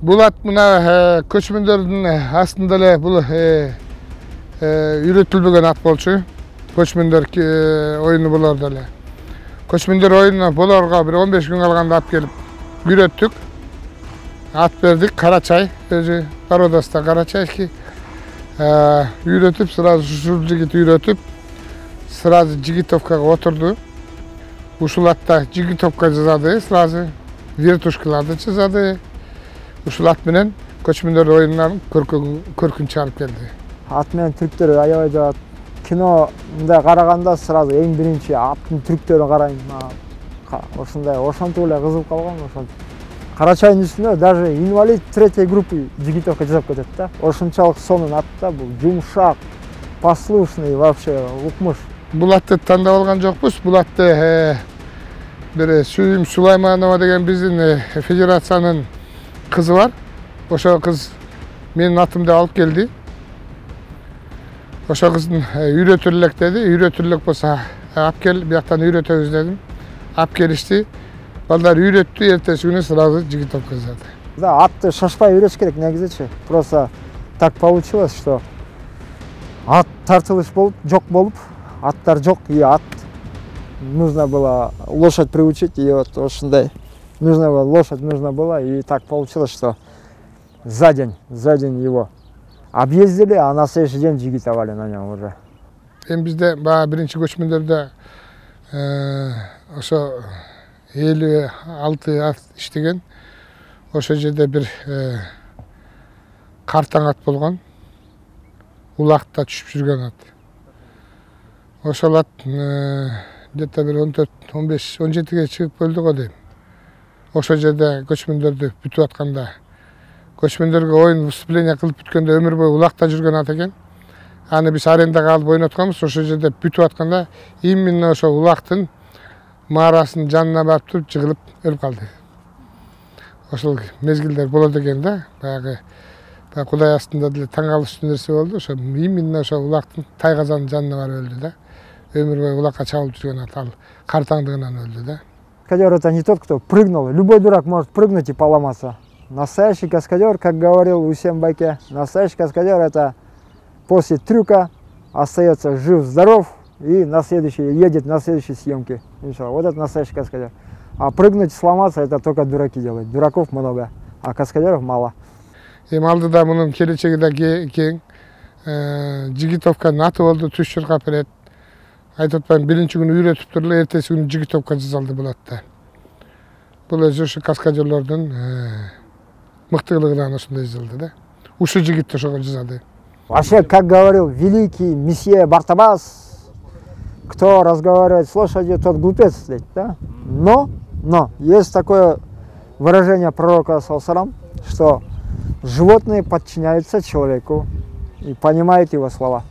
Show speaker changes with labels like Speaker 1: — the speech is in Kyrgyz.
Speaker 1: Булат мына көчмөндөрдүн астында эле бул үйрөтүлбөгөн ат болчу. Көчмөндөр оюну болорду эле. Көчмөндөр оюнуна болорго бир 15 күн калганда алып келип үйрөттүк. Ат бердик, Карачай, өзү породасында Карачайский. Үйрөтүп, сразу ушул жигит үйрөтүп, сразу жигитовкага отурду. Ушул атта жигитовка жасады, сразу вертушкаларды жасады. Ушул ат менен көчмөндөр оюнунан көркүн чыгарып келди.
Speaker 2: Ат менен түрктөр аябай жагат. Киномда караганда сразу эң биринчи аттын түрктөрүн карайм. Ошондой ошентип эле кызыгып калгам, ошентип. Карачайдын үстүнө даже инвалид третьей группы жигитовка жасап кетет да. Ошончолук сонун ат да, бул жумшак, послушный, вообще укмуш.
Speaker 1: Бул атты тандап алган жокпуз. Бул атты бир Сүйүм Сулайманова деген биздин федерациянын кызы бар. Ошо кыз менин атымды алып келди. Ошо кыздын үйрөтүр элек деди. Үйрөтүр элек болсо алып кел, бияктан үйрөтөбүз дедим. Алып келишти. Балдар үйрөттү, эртеси күнү сразу жигитовка жасады.
Speaker 2: Да, атты шашпай үйрөтүш керек негизичи. Просто так получилось, что ат тартылыш жок болуп, аттар жок, и ат нужно было лошадь приучить, и вот ошондой лошадь нужно было, и так получилось, что за день его объездили, а на следующий день жигитовали на нем уже.
Speaker 1: Бизде биринчи көчмөндөрдө ошо 56 ат иштеген. Ошол жерде бир картаң ат болгон. Улакта түшүп жүргөн ат. Ошол ат где-то бир 14-15-17ге чыгып өлдү го дейм. Ошол жерде көчмөндөрдү бүтүп атканда, көчмөндөргө оюн выступление кылып бүткөндө өмүр бою улакта жүргөн ат экен. Аны биз арендага алып ойнотканбыз. Ошол жерде бүтүп атканда именно ошо улактын маарасынын жанына барып туруп жыгылып өлүп калды. Ошол мезгилдер болот экен да. Баягы Кудай астында деле таң калыштуу нерсе болду. Ошо именно ошо улактын тайгазанын жанына барып өлдү да. Өмүр бою улакка чабылып жүргөн ат, ал картаңдыгынан өлдү да.
Speaker 2: Каскадер — это не тот, кто прыгнул. Любой дурак может прыгнуть и поломаться. Настоящий каскадер, как говорил Усен Байке, настоящий каскадер — это после трюка остается жив-здоров и едет на следующие съемки. Вот это настоящий каскадер. А прыгнуть и сломаться — это только дураки делают. Дураков много, а каскадеров мало.
Speaker 1: Алдыда мунун келечеги да кең. Жигитовканын аты болду, түш чуркап берет. Айтып атпайм, биринчи күнү үйрөтүптүр эле, эртеси күнү жигитовка жасалды бул атта. Бул өзү ушу каскадерлордун мыктылыгынан ошондой жасалды да. Ушул жигит ошого жасады.
Speaker 2: Вообще, как говорил великий месье Бартабас, кто разговаривает с лошадью, тот глупец, да? Но есть такое выражение пророка ﷺ, что животные подчиняются человеку и понимают его слова.